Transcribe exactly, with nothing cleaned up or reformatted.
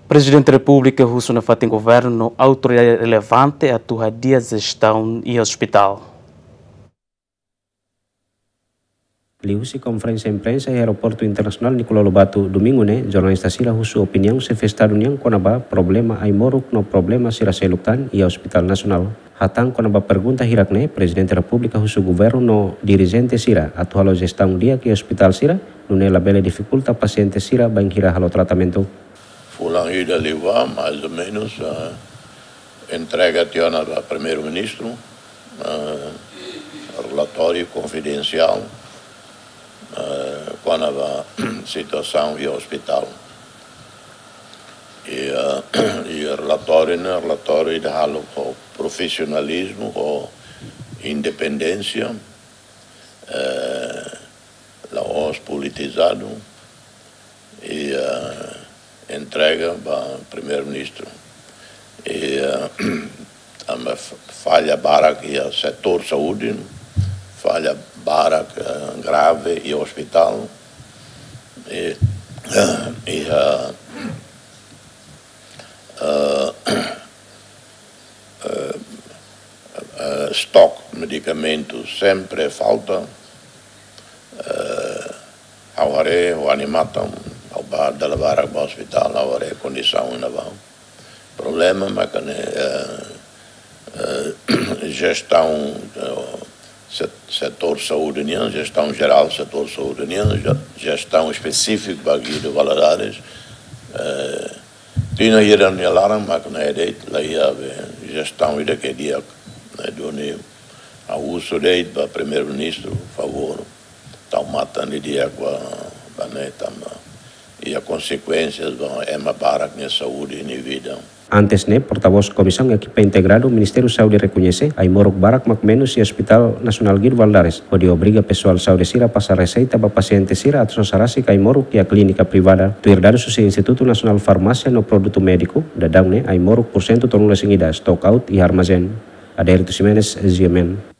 Prezidente Repúblika husu nafatin governu no autoridade relevante atu hadi'a jestaun iha ospitál. Liuhusi konferénsia imprensa iha Aeroportu Internasionál Nicolau Lobato, Domingu ne'e, jornalista sira husu opiniaun xefe Estadu nian kona-ba problema ai-moruk no problema sira seluk tan iha Ospitál Nasionál. Hatán kona-ba pergunta hirak-ne'e, Prezidente Repúblika husu governu no dirijente sira atu halo jestaun di'ak iha ospitál sira, nune'e labele difikulta pasiente sira bainhira halo tratamentu. Fulan ida liubá, mais ou menus, eh, entrega tiha ona ba Primeiru-Ministru, eh, relatóriu konfidensiál, eh, kona-ba situasaun iha ospitál. I, eh, i relatóriu ne'e, relatóriu ida halo ho profisionalizmu, ho independénsia, eh, la'ós politizadu, i, eh, entrega ba Primeiru-Ministru. I, eh, tanba f-, falla barak iha setór saúde, falla barak, eh, grave iha ospitál, i, i, eh, eh, eh, eh, stok medikamentu sempre falta. Eh, ha'u haree, ha'u animatan, ha'u bá dala barak ba ospitál, ha'u haree kondisaun iha ne'ebá. Problema maka ne'e, eh, eh, jestaun, eh, set-, setór saúde nian, jestaun jerál setór saúde nian, je-, jestaun espesífiku ba Guido Valadares, eh, tinan hira nia laran mak ne'e de'it, la iha be jestaun ida ke di'ak, ne'e duni ha'u husu de'it ba Primeiru-Ministru, favór, tau matan didi'ak ba, ba ne'e tanba iha konsekuénsias ba ema barak nia saúde, nia vida. Antes ne'e, portavós Komisaun Ekipa Integradu Ministériu Saúde rekoñese, ai-moruk barak mak menus iha Ospitál Nasionál Guido Valadares, hodi obriga pesoál saúde sira pasa reseita ba pasiente sira atu sosa rasik ai-moruk iha klínika privada. Tuir dadus husi Institutu Nasionál Farmásia no Produtu Médiku, daudaun ne'e ai-moruk pursentu tolunulu-resin-ida stock out iha armazén. Adérito Ximenes, G M N.